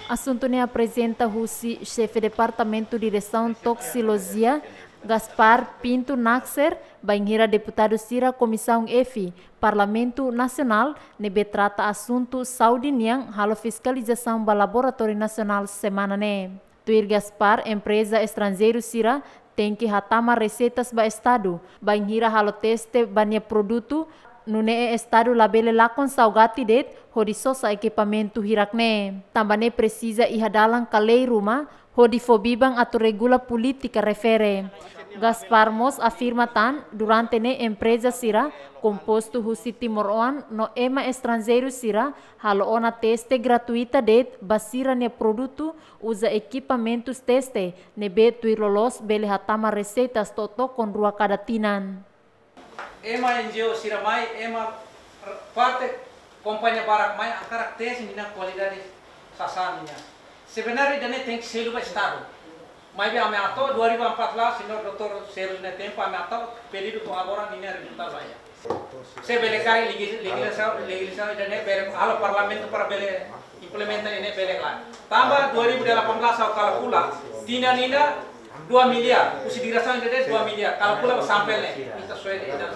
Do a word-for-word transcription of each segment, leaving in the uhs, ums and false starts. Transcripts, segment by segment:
Asuntu ne'e aprezenta husi Xefe Departamentu Diresaun Toksikolojia, Gaspar Pinto Naxer, bainhira deputadu sira Komisaun F, Parlamentu Nasionál, ne'ebé trata asuntu saúde nian halo fiskalizasaun ba Laboratóriu Nasionál semana ne'e. Tuir Gaspar, empreza estranjeiru sira tenke hatama reseitas ba Estadu, bainhira halo teste ba nia produtu, nune'e Estadu labele lakon saugati de'it hodi sosa ekipamentu hirak ne'e. Tanba ne'e presiza iha dalan ka lei ruma, hodi fó biban atu regula polítika refere. Gaspar mós afirma tan, durante ne'e empreza sira kompostu husi timoroan no ema estranjeiru sira halo ona teste gratuita de'it ba sira-nia produtu, uza ekipamentus teste, ne'ebé tuir loloos bele hatama reseitas to'o tokon rua kada tinan. Ema N G O sira mai, ema parte kompañia barak mai, hakarak teste ninia kualidade sasán nian. Sebenarnya ida-ne'e tenke selu ba Estadu. Maibé ami hato'o dua ribu empat belas, señór doutór Sérgio nia tempu, ami hato'o pedidu to'o agora ninia rezultadu la iha. Se bele karik legi-, legislasaun, legislasaun ida-ne'e bele halo Parlamentu para bele implementa ida-ne'e bele la. Tanba dua ribu delapan belas ha'u kalkula, tinan ida dua miliar, husi diresaun ida-ne'e dua miliar, kalkula ba sampel ne'e, ita soe de'it ida.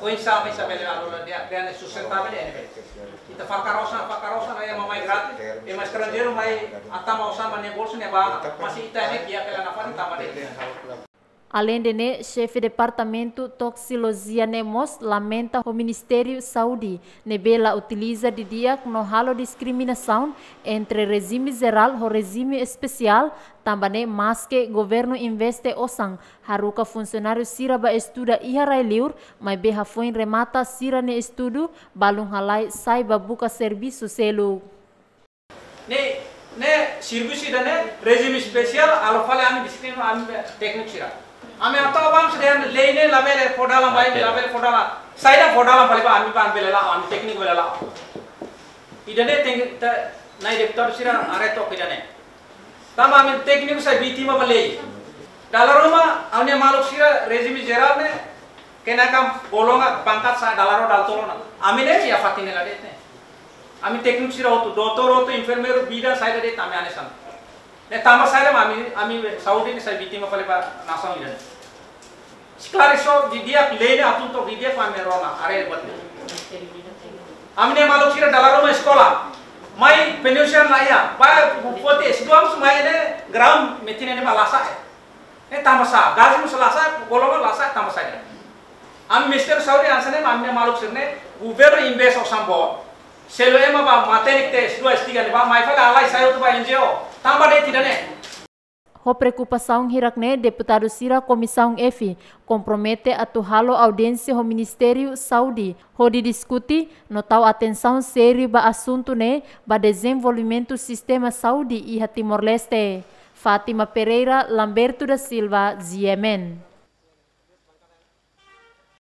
Oinsá, oinsá bele halo la dia, dia ne'e sustentável ne'e. Ita fakar osan, fakar osan, ema mai gratis, ema estranjeiru mai hatama osan ba nia bolsu ne'e ba, mas ita ne'e dia pela nafari tanba de'it. Aleinde ne'e, Xefe Departamentu Toksikolojia ne'e mós lamenta ho Ministériu Saúde, ne'ebé la utiliza didi'ak no halo diskriminasaun entre rejime jerál ho rejime espesiál, tanba ne'e maske governu investe osan, haruka funsionáriu sira ba estuda iha rai-liur, maibé hafoin remata sira-nia estudu, balun halai sai ba buka servisu seluk. Ne'e, ne'e servisu ida-ne'e, rejime espesiál, halo fali ami diskriminasaun ami tékniku sira. Ami hato'o bá se dehan lei ne'e labele fó dalan ba imi, labele fó dalan. Saida fó dalan fali ba ami, ba ami bele la'o, ami tékniku bele la'o. Ida-ne'e tenke, ta, na'i deputadu sira haree took ida-ne'e. Tanba ami tékniku sai vítima ba lei. Dala ruma, ami-nia maluk sira rejime jerál ne'e, kenaikan golongan pangkat sa'e dala rua dala tolu ona. Ami ne'e iha fatin ne'e la de'it ne'e. Ami tékniku sira hotu, doutór hotu, enfermeiru, bidan, saida de'it ami hanesan. Ne'e tanba saida mak ami, ami saúde ne'e sai vítima fali ba nasaun ida-ne'e. Esklarese didi'ak, lei ne'e hatún took didi'ak mak ami rona, haree buat ne'e. Ami-nia maluk sira dala ruma eskola. Mai penyusian la iha, ba foti S dua mós mai ne'e grau metin ne'e mak la sa'e. Ne'e tanba sá, gaji mós la sa'e, golongan la sa'e tanba saida. Ami Ministériu Saúde hanesan ne'e, ami-nia maluk sira-ne'e, governu investe osan boot. Selu ema ba matenek tiha S dua, S tiga ne'ebá, mai fali halai sai hotu ba N G O. Tanba de'it ida-ne'e. Ho preokupasaun hirak ne'e, deputadu sira Komisaun F kompromete atu halo audiénsia ho Ministériu Saúde, hodi diskute no tau atensaun sériu ba asuntu ne'e ba dezenvolvimentu sistema saúde iha Timor-Leste. Fátima Pereira, Lamberto da Silva, G M N.